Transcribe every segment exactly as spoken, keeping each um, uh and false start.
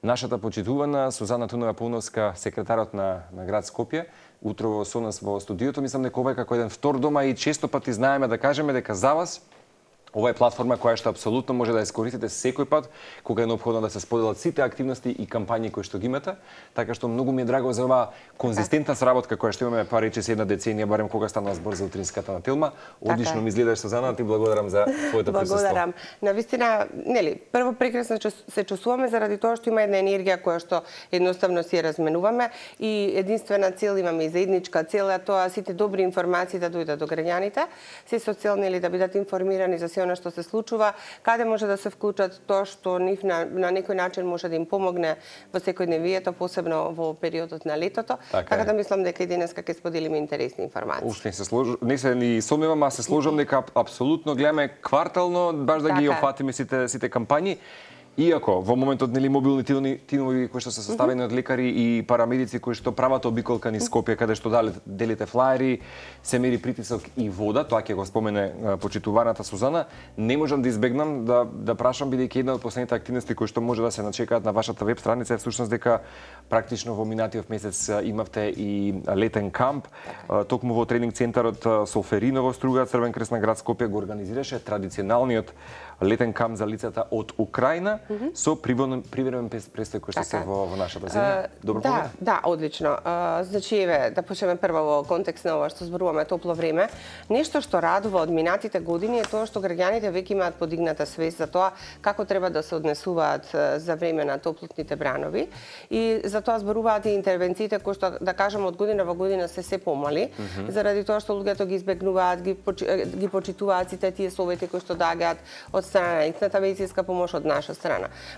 нашата почитувана Сузана Тунова Пауновска, секретарот на, на град Скопје, утрово со нас во студиото. Мислам дека ова е како еден втор дома и често пати знаеме да кажеме дека за вас ова е платформа која што апсолутно може да ја искористите секој пат кога е неопходно да се споделат сите активности и кампањи кои што ги имате, така што многу ми е драго за оваа конзистентна сработка која што имаме, па речиси една деценија, барем кога стана збор за утринската на Телма. Одлично ми изгледаш, Сузана, ти благодарам за твоето присуство. Благодарам. Навистина, нели, прво прекрасно се чувствуваме заради тоа што има една енергија која што едноставно си ја разменуваме и единствена цел имаме и заедничка цел е тоа сите добри информации да дојдат до граѓаните, се со цел нели да бидат информирани за она што се случува, каде може да се вклучат тоа што нив на, на некој начин може да им помогне во секојдневието, посебно во периодот на летото. Така, така да мислам дека и денеска ќе споделиме интересни информации. Уште не се слож... не се ни сомневам, а се сложам дека апсолутно гледаме квартално баш да така ги опфатиме сите сите кампањи. Иако во моментот нели мобилни тимови кои што се составени од лекари и парамедици кои што прават обиколка низ Скопје каде што делите флаери, се мери притисок и вода, тоа ќе го спомене почитуваната Сузана, не можам да избегнам да да прашам бидејќи една од последните активности кои што може да се начекаат на вашата веб страница е всушност дека практично во минатиот месец имавте и летен камп, токму во тренинг центарот Солфериново Струга, Црвен крест на град Скопје го организираше традиционалниот летен камп за лицата од Украина mm -hmm. со привремен престој кој што се во, во нашата земја. Добро да, помня? Да, одлично. Uh, значи, еве, да почнеме прво во контекст на ова што зборуваме топло време. Нешто што радува од минатите години е тоа што граѓаните веќе имаат подигната свест за тоа како треба да се однесуваат за време на топлотните бранови и за тоа зборуваат и интервенциите кои што да кажеме од година во година се се помали, mm -hmm. заради тоа што луѓето ги избегнуваат, ги почи, ги почитуваат сите тие совети кои што доаѓаат од страна на икната медицинска помош од наша страна.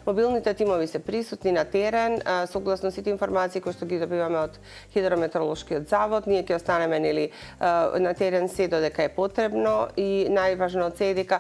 Мобилните тимови се присутни на терен, согласно сите информации кои што ги добиваме од Хидрометеоролошкиот завод, ние ќе останеме нели на терен се додека е потребно и најважно од се е дека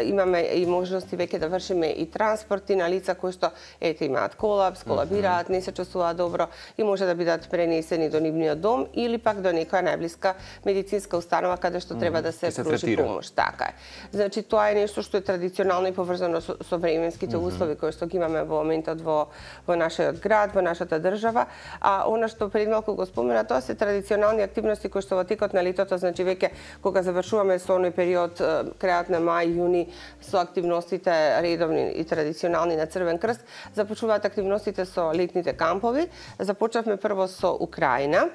имаме и можности веќе да вршиме и транспорти на лица кои што ете имаат колапс, колабираат, не се чувствуваат добро и може да бидат пренесени до нивниот дом или пак до некоја најблиска медицинска установа каде што треба да се, се пружи помош. Така е. Значи тоа е нешто што е традиционално и поврзано со, со временските mm -hmm. услови кои што ги имаме во моментот во во нашиот град, во нашата држава, а она што пред малку го спомена, тоа се традиционални активности кои што во текот на летото, значи веќе кога завршуваме со оној период крајот на мај, јуни со активностите редовни и традиционални на Црвен крст, започнуваат активностите со летните кампови. Започнавме прво со Украина.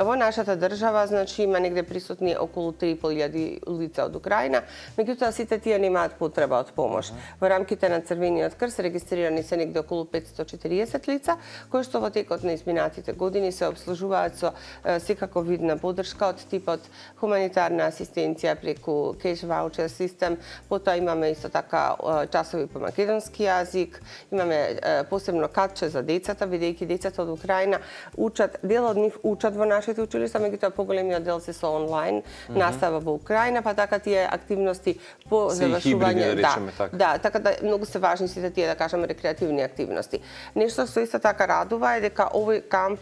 Во нашата држава, значи, има негде присутни околу три и пол илјади лица од Украина, меѓутоа сите тие немаат потреба од помош. Во рамките на Црвениот крст регистрирани се негде околу петстотини и четириесет лица, кои што во текот на изминатите години се обслужуваат со секако видна подршка од типот хуманитарна асистенција преку кеш ваучер систем, потоа имаме исто така часови по македонски јазик, имаме посебно катче за децата, бидејќи децата од Украина учат, дел од нив учат во нашите училишта, меѓутоа поголемиот дел се со онлайн mm -hmm. настава во Украина, па така тие активности по завршување, да, речеме, така. да, така да многу се важни сите тие да кажеме рекреативни активности. Нешто што исто така радува е дека овој камп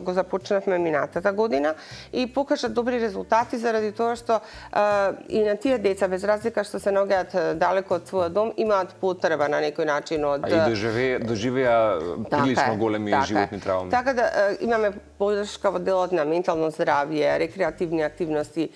го започнавме минатата година и покажа добри резултати заради тоа што а, и на тие деца без разлика што се наоѓаат далеко од својот дом имаат потреба на некој начин од а и доживеа доживеа прилично големи така животни травми. Така да а, имаме подршка во делот на ментално здравје, рекреативни активности,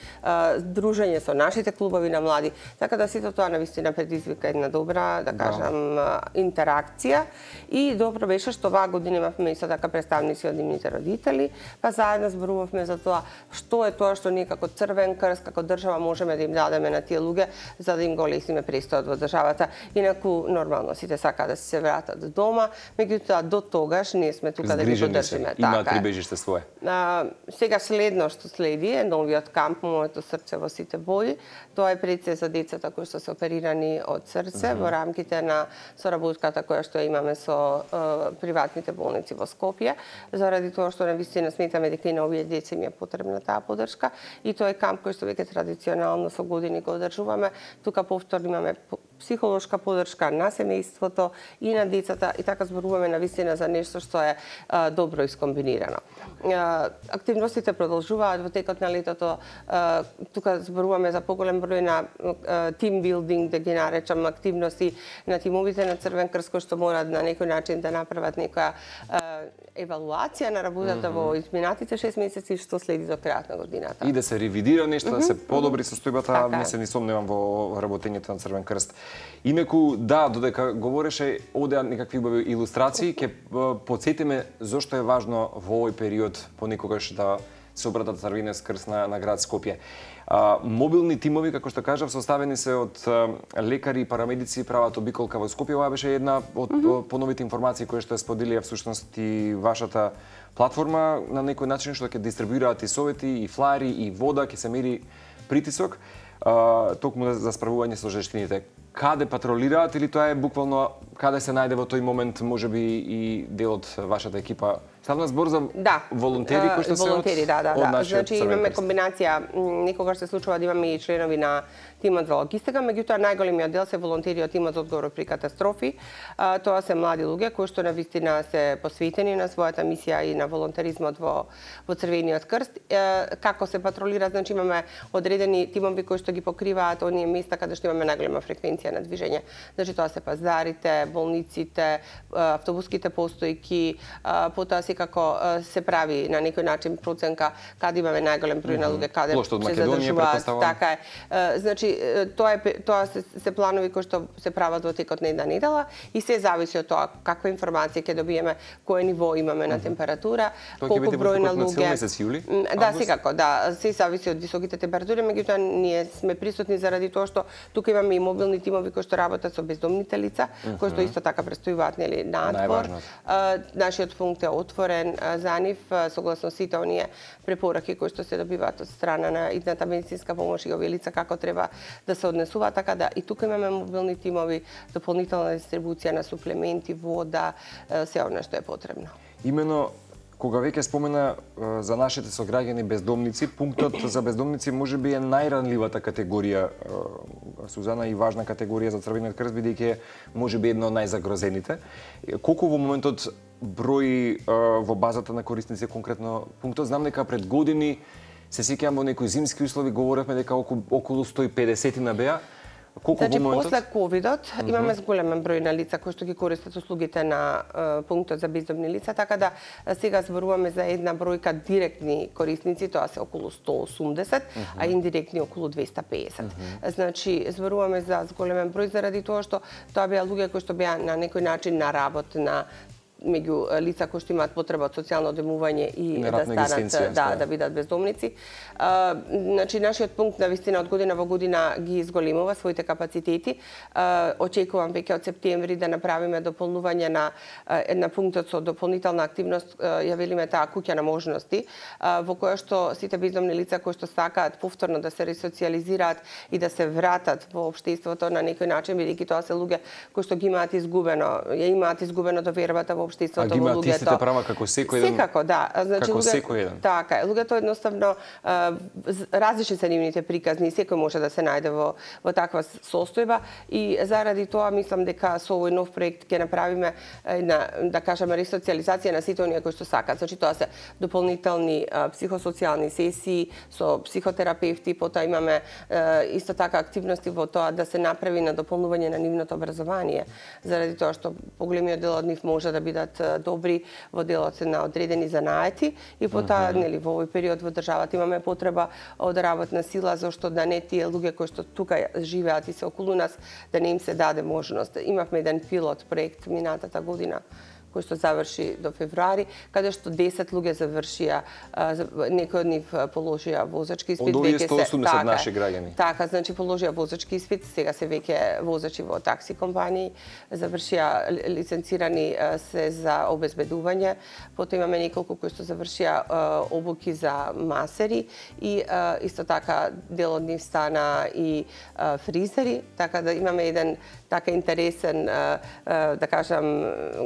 дружење со нашите клубови на млади. Така да сето тоа навистина предизвика една добра, да кажам, да. интеракција. И добро беше што оваа година имавме исто така представници од нивните родители, па заедно зборувавме за тоа што е тоа што ние како Црвен крст, како држава можеме да им дадеме на тие луѓе за да им го олесниме престојот во државата. Инаку нормално сите сакаат да се вратат дома, меѓутоа до тогаш ние сме тука да ги поддржиме. Имаат прибежиште свое. А, сега следно што следи е новиот камп Моето срце во сите бои. Тоа е пред за децата кои што се оперирани од срце mm -hmm. во рамките на соработката која што имаме со е, приватните болници во Скопје, заради тоа што навистина сметаме дека и на овие деца им е потребна таа поддршка и тоа е камп кој што веќе традиционално со години го одржуваме. Тука повторно имаме психолошка подршка на семејството и на децата, и така зборуваме на вистина за нешто што е а, добро искомбинирано. А, активностите продолжуваат во текот на летото. А, тука зборуваме за поголем број на тимбилдинг, да ги наречам, активности на тимовите на Црвен крст, кои што мораат на некој начин да направат некоја а, евалуација на работата mm -hmm. во изминатите шест месеци што следи до крајот на годината. И да се ревидира нешто, mm -hmm. да се подобри состојбата, не се ни сомневам во работењето на Црвен крст. Инеку, да, додека говореше одеа некакви убави илустрации, ќе потсетиме зошто е важно во овој период понекогаш да се обратат Црвениот крст на, на град Скопје. А, мобилни тимови, како што кажав, составени се од а, лекари и парамедици, прават обиколка во Скопје. Ова беше една од mm -hmm. поновите информации кои што ја споделија всушност и вашата платформа на некој начин, што ќе дистрибуираат и совети, и флаери, и вода, ќе се мери притисок, а, токму за справување со жештините. Каде патролираат или тоа е буквално каде се најде во тој момент можеби и дел од вашата екипа? Ставна збор за да, волонтери кои што се волонтери, од, да, да, од да. Значи имаме крст. комбинација, некогаш се случува да имаме и членови на тимот за логистика, меѓутоа најголемиот дел се волонтери од тимот за одговор при катастрофи. А, тоа се млади луѓе кои што навистина се посветени на својата мисија и на волонтеризмот во во Црвениот крст. E, како се патролира, значи имаме одредени тимови кои што ги покриваат оние места каде што имаме најголема фреквенција на движење. Значи тоа се пазарите, болниците, автобуските постојки, потоа секако се прави на некој начин проценка каде имаме најголем број на луѓе, каде се задржуваат. Така е. Значи тоа е тоа се, се планови кои што се прават во текот на една недела и се зависи од тоа каква информација ќе добиеме, кое ниво имаме на температура, колку број на луѓе. Месец јули? Да, секако, да, се зависи од високите температури, меѓутоа ние сме присутни заради тоа што тука имаме и мобилни тимови кои што работат со бездомните лица, кои што исто така престојуваат нели надвор. Нашиот пункт е отворен за нив согласно сите оние препораки кои што се добиваат од страна на идната медицинска помош и овие лица како треба да се однесуваат, така да и тука имаме мобилни тимови, дополнителна дистрибуција на суплементи, вода, се она што е потребно. Имено кога веќе спомена за нашите сограѓани бездомници, пунктот за бездомници можеби е најранливата категорија, Сузана, и важна категорија за Црвениот крст, бидејќи можеби една од најзагрозените. Колку во моментот број во базата на корисници конкретно пунктот? Знам дека пред години се сеќавам во некои зимски услови говоревме дека околу сто и педесет на беа. Колку значи, во моментот? после ковидот mm -hmm. имаме зголемен број на лица кои што ги користат услугите на uh, пунктот за бездомни лица, така да сега зборуваме за една бројка директни корисници, тоа се околу сто осумдесет, mm -hmm. а индиректни околу двеста педесет. Mm -hmm. Значи, зборуваме за зголемен број заради тоа што тоа беа луѓе кои што беа на некој начин на работ на меѓу лица кои што имаат потреба од социјално одемување и да станат да да бидат бездомници. А, значи нашиот пункт на вистина од година во година ги изголемува своите капацитети. А, очекувам веќе од септември да направиме дополнување на една пунктот со дополнителна активност, ја велиме таа куќа на можности, а, во која што сите бездомни лица кои што сакаат повторно да се ресоциализираат и да се вратат во општеството на некој начин, бидејќи тоа се луѓе кои што ги имаат изгубено, ја имаат изгубено довербата во општеството, а ги имаат истите права како секој еден. Секако, да. Значи, како луѓе, секој еден. Така е. Луѓето едноставно различни се нивните приказни, секој може да се најде во во таква состојба и заради тоа мислам дека со овој нов проект ќе направиме една, да кажеме, ресоциализација на сите оние кои што сакаат. Значи тоа се дополнителни а, психосоцијални сесии со психотерапевти, потоа имаме а, исто така активности во тоа да се направи на дополнување на нивното образование, заради тоа што поголемиот дел од нив може да бидат добри во делот на одредени занаети и потоа uh -huh. нели во овој период во државата имаме потреба од работна сила, зашто да не тие луѓе кои што тука живеат и се околу нас да не им се даде можност. Имавме еден пилот проект минатата година кој што заврши до февруари, каде што десет луѓе завршија, некои од нив положија возачки испит. Од овие сто осумдесет наши граѓани. Така, значи положија возачки испит, сега се веќе возачи во такси компании, завршија лиценцирани се за обезбедување, потоа имаме неколку кои што завршија обуки за масери и исто така дел од нив стана и фризери, така да имаме еден така интересен, да кажам,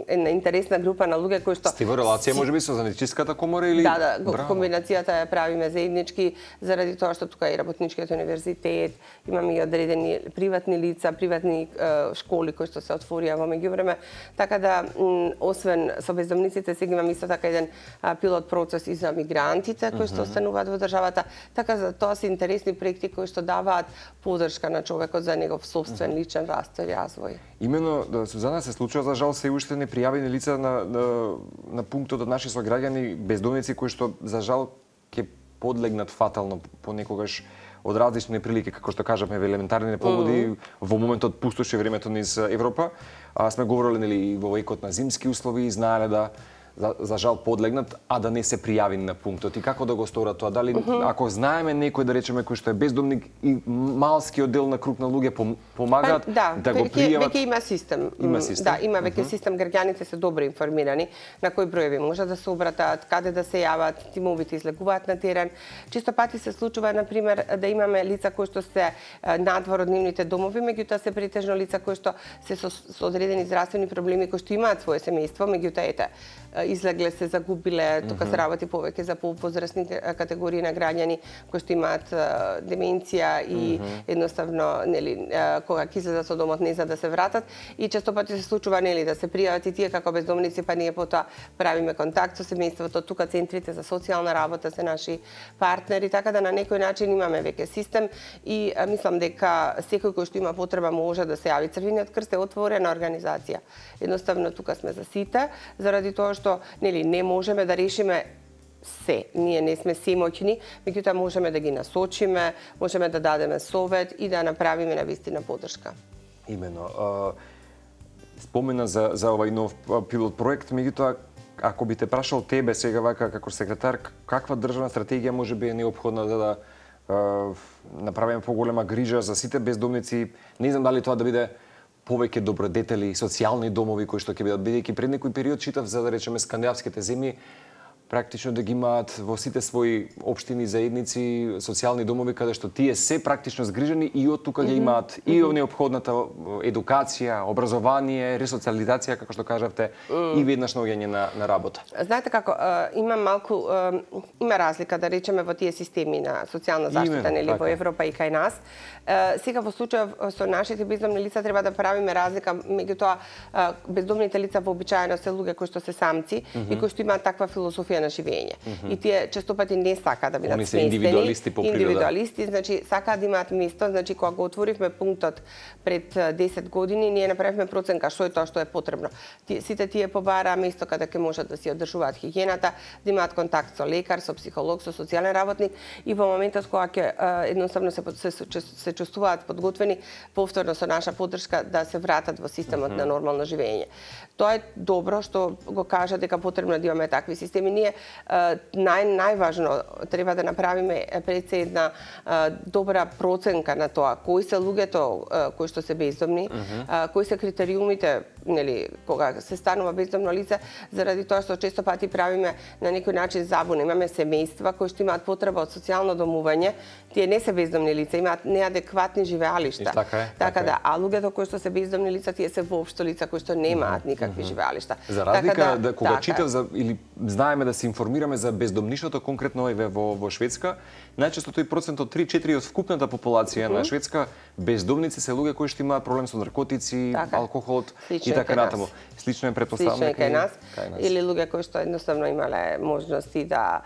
една интересна интересна група на луѓе кои што сте во релација можеби со занајчиската комора или Да, да, Браво. Комбинацијата ја правиме заеднички заради тоа што тука е и работничкиот универзитет, имаме и одредени приватни лица, приватни е, школи кои што се отворија во меѓувреме, така да м, освен со бездомниците сега имаме исто така еден а, пилот процес и за мигрантите кои што остануваат во државата, така за тоа се интересни проекти кои што даваат поддршка на човекот за негов собствен личен раст и развој. Имено, да, Сузана, се случува за жал се уште непријавени лица на, на, на пунктот од наши сограѓани, бездомници кои што за жал ќе подлегнат фатално понекогаш од различни прилики, како што кажавме, во елементарни непогоди, mm. во моментот пустоше времето низ Европа. А, сме говорили нели во векот на зимски услови и знаеле да За, за жал подлегнат, а да не се пријави на пунктот. И како да го сторат тоа? Дали, uh -huh. ако знаеме некој, да речеме, кој што е бездомник и малскиот дел на круг на луѓе помагаат па, да, да го пријават? Веќе има систем. Има систем? Да, има веќе uh -huh. систем. Граѓаните се добро информирани на кои броеви може да се обратат, каде да се јават, тимовите излегуваат на терен. Чисто пати се случува, например, да имаме лица кои што се надвор од нивните домови, меѓутоа се претежно лица кои што се со, со одредени здравствени проблеми, кои што имаат свое семејство, меѓутоа ете, излегле се, загубиле, тука се работи повеќе за повозрастни категории на граѓани кои што имаат деменција и едноставно нели кога ќе излезат со домот не за да се вратат и често пати се случува нели да се пријават и тие како бездомници, па ние потоа правиме контакт со семејството, тука центрите за социјална работа се наши партнери, така да на некој начин имаме веќе систем и а, мислам дека секој кој што има потреба може да се јави. Црвениот крст е отворена организација. Едноставно тука сме за сите, заради тоа што нели не можеме да решиме се. Ние не сме семоќни, меѓутоа можеме да ги насочиме, можеме да дадеме совет и да направиме навистина поддршка. Имено. А, спомена за за овај нов пилот проект, меѓутоа ако би те прашал тебе сега вака како секретар, каква државна стратегија можеби е неопходна за да а, направиме поголема грижа за сите бездомници? Не знам дали тоа да биде повеќе добродетели, социјални домови кои што ќе бидат, бидејќи пред некој период читав за да речеме скандинавските земји практично да ги имаат во сите своји општини, заедници, социјални домови каде што тие се практично згрижени и од тука ги имаат и неопходната едукација, образование, ресоциализација, како што кажавте, и веднаш наоѓање на, на работа. Знаете како, има малку, има разлика, да речеме, во тие системи на социјална заштита, нели, во Европа и кај нас. Сега во случај со нашите бездомни лица треба да правиме разлика, меѓутоа бездомните лица вообичаено се луѓе кои што се самци и кои што имаат таква философија на живење. Mm -hmm. И тие често пати не сакаат да бидат Они се индивидуалисти по природа. Индивидуалисти, значи сакаат да имаат место, значи кога го отворивме пунктот пред десет години, ние направивме проценка што е тоа што е потребно. Ти, сите тие побараа место каде ќе можат да си одржуваат хигиената, да имаат контакт со лекар, со психолог, со социјален работник и во моментот кога ќе едноставно се, се, се, се чувствуваат подготвени повторно со наша поддршка да се вратат во системот mm -hmm. на нормално живење. Тоа е добро што го кажа дека потребно да имаме такви системи. Ние нај најважно треба да направиме пред се една добра проценка на тоа кои се луѓето кои што се бездомни, mm -hmm. кои се критериумите, нели, кога се станува бездомно лице, заради тоа што често пати правиме на некој начин забуна. Имаме семејства кои што имаат потреба од социјално домување, тие не се бездомни лица, имаат неадекватни живеалишта. Така е. Така да, а луѓето кои што се бездомни лица, тие се воопшто лица кои што немаат никакви живеалишта. За разлика така да, да кога така. читав за или знаеме да се информираме за бездомништвото конкретно во во Шведска, најчесто тој процентот три четири од вкупната популација uh -huh. на Шведска бездомници се луѓе кои што имаат проблем со наркотици, така. алкохолот и така натаму. Слично е претпоставено кај нас. Или луѓе кои што едноставно имале можности да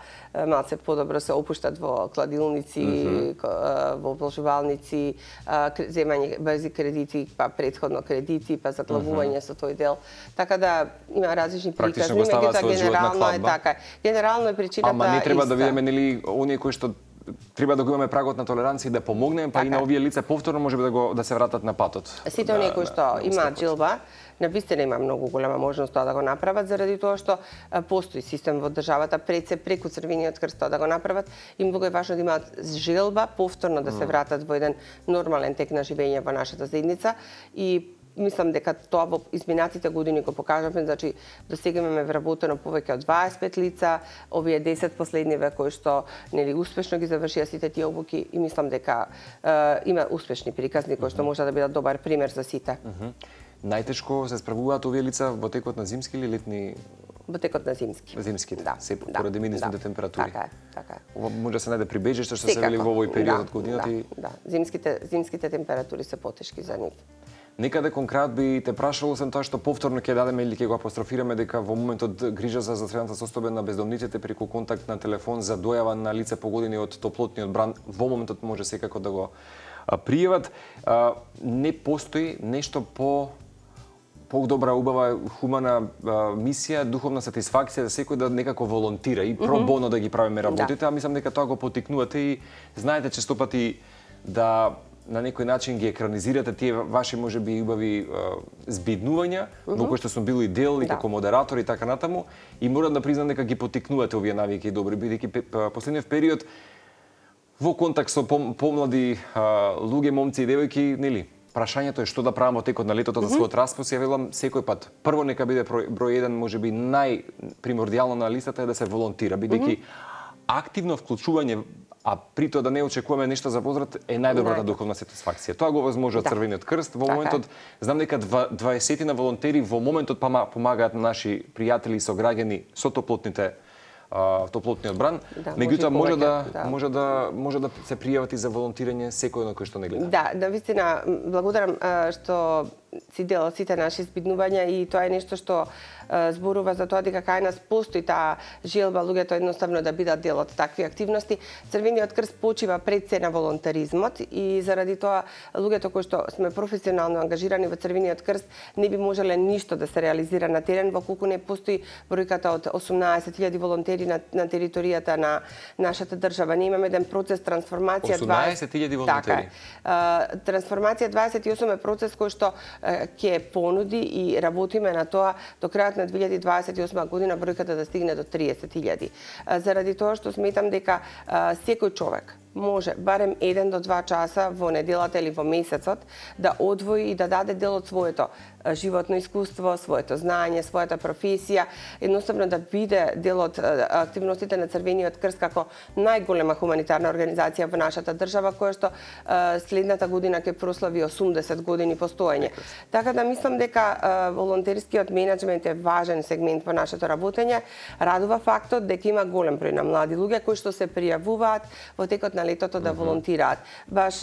малце подобро се опуштат во кладилници, uh -huh. во облажувалници, земање брзи кредити, па претходно кредити, па заглавување uh -huh. со тој дел. Така да има различни приказни, меѓутоа генерално е така. Генерално е причината Ама не треба да видиме нели оние кои што треба да го имаме прагот на толеранција да помогнеме, па така. и на овие лица повторно можеби да го да се вратат на патот. Сите оние кои што имаат джилба, навистина има многу голема можност тоа да го направат заради тоа што постои систем во државата пред се преку Црвениот крст тоа да го направат и многу е важно да имаат желба повторно да се вратат во еден нормален тек на живење во нашата заедница и мислам дека тоа во изминатите години го покажавме, значи до сега имаме вработено повеќе од дваесет и пет лица, овие десет последниве кои што нели успешно ги завршија сите тие обуки и мислам дека е, има успешни приказни кои што може да бидат добар пример за сите. Mm -hmm. најтешко се справуваат овие лица во текот на зимски или летни? Во текот на зимски. Зимските, да, се да, поради минусните да, температури. Така е, така е. Ова може да се најде прибежиште што се вели во овој период да, од годината да, и да, зимските зимските температури се потешки за нив. Некаде конкрет би те прашало сам тоа што повторно ќе дадеме или ќе го апострофираме дека во моментот грижа за здравствената состојба на бездомниците преку контакт на телефон за дојава на лица погодени од топлотниот бран во моментот може секако да го пријават. Не постои нешто по подобра, убава, хумана а, мисија, духовна сатисфакција за секој да некако волонтира и про боно да ги правиме работите, да. А мислам дека тоа го потикнувате и знаете често пати да на некој начин ги екранизирате тие ваши можеби убави а, збиднувања, uh -huh. во кои што сум бил и дел и да. Како модератор и така натаму, и морам да признам дека ги потикнувате овие навики добри, бидејќи последниот период во контакт со помлади луѓе, момци и девојки, нели? Прашањето е што да правам во текот на летото за својот распос, ја велам секој пат. Прво нека биде број еден, можеби најпримордијално на листата е да се волонтира, бидејќи активно вклучување, а при тоа да не очекуваме нешто за возврат, е најдобрата духовна сатисфакција. Тоа го возможува да. Црвениот крст. Во моментот, знам дека дваесет на волонтери во моментот помагаат на наши пријатели и сограѓани со топлотните топлотниот бран, да, меѓутоа може, може да, да може да може да се пријават и за волонтирање секој на кој што не гледа. Да, да вистина благодарам што си дел сите наши збиднувања и тоа е нешто што зборува за тоа дека кај нас постои таа желба луѓето едноставно да бидат дел од такви активности. Црвениот крст почива пред се на волонтаризмот и заради тоа луѓето кои што сме професионално ангажирани во Црвениот крст не би можеле ништо да се реализира на терен во колку не постои бројката од осумнаесет илјади волонтери на, на територијата на нашата држава. Ние имаме еден процес трансформација осумнаесет илјади волонтери. Така е. Трансформација дваесет и осум е процес кој што ќе понуди и работиме на тоа до крајот на две илјади дваесет и осма година бројката да стигне до триесет илјади. Заради тоа што сметам дека секој човек може барем еден до два часа во неделата или во месецот да одвои и да даде дел од своето животно искуство, своето знаење, својата професија, едноставно да биде дел од активностите на Црвениот крст како најголема хуманитарна организација во нашата држава, која што следната година ќе прослави осумдесет години постоење. Така да мислам дека волонтерскиот менеджмент е важен сегмент во нашето работење. Радува фактот дека има голем број на млади луѓе кои што се пријавуваат во текот на летото да волонтираат. Баш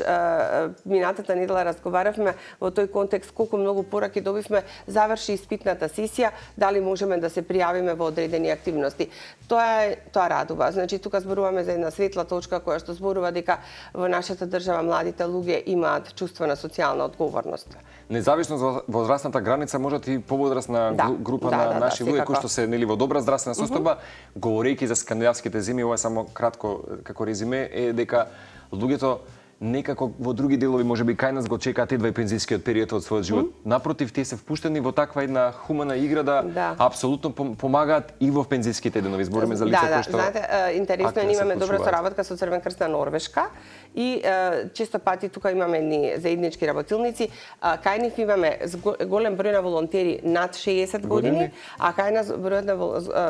минатата недела разговаравме во тој контекст колку многу пораки добивме, заврши испитната сесија, дали можеме да се пријавиме во одредени активности. Тоа е, тоа радува. Значи тука зборуваме за една светла точка која што зборува дека во нашата држава младите луѓе имаат чувство на социјална одговорност. Независно за возрастната граница, можат и повозрастна да, група да, на да, наши да, луѓе кои што се нели во добра здравствена состојба, uh -huh. говорејќи за скандинавските зими, ова е само кратко како резиме, е дека луѓето некако во други делови можеби кај нас го чекаат едва и пензискиот период од својот живот. Mm. Напротив, тие се впуштени во таква една хумана игра да, да. апсолутно помагаат и во пензиските денови. Збориме за лица да, кои што... Да, знаете, интересно е, ние имаме добра соработка со Црвен крст на Норвешка и е, често пати тука имаме едни заеднички работилници. Кај нив имаме голем број на волонтери над шеесет години, години, а кај нас бројот на,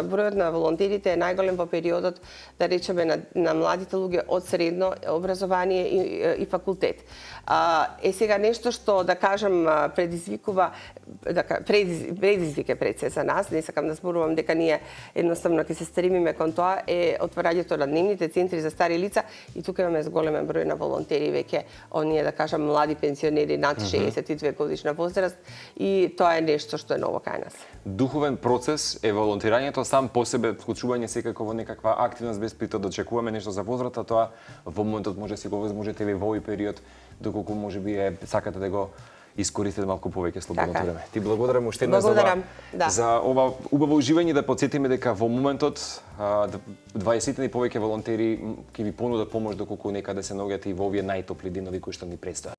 бројот на волонтерите е најголем во периодот, да речеме, на, на младите луѓе од средно образование и и факултет. Е сега нешто што, да кажам, предизвикува, да, предизвик е пред се за нас, не сакам да зборувам дека ние едноставно ќе се стремиме кон тоа, е отварањето на дневните центри за стари лица и тука имаме зголемен број на волонтери веќе, оние, да кажам, млади пенсионери над шеесет и две годишна возраст и тоа е нешто што е ново кај нас. Духовен процес е волонтирањето сам по себе, вклучување секако во некаква активност без притоа да очекуваме нешто за возврата, тоа во моментот може си го возможете ви во овој период, доколку можеби е сакате да го искористите малку повеќе слободното така. време. Ти благодарам уште еднаш за ова, да. за ова убаво уживање, да потсетиме дека во моментот дваесет и повеќе волонтери ќе ви понудат помош доколку некаде се наоѓате и во овие најтопли денови кои што ни предстојат.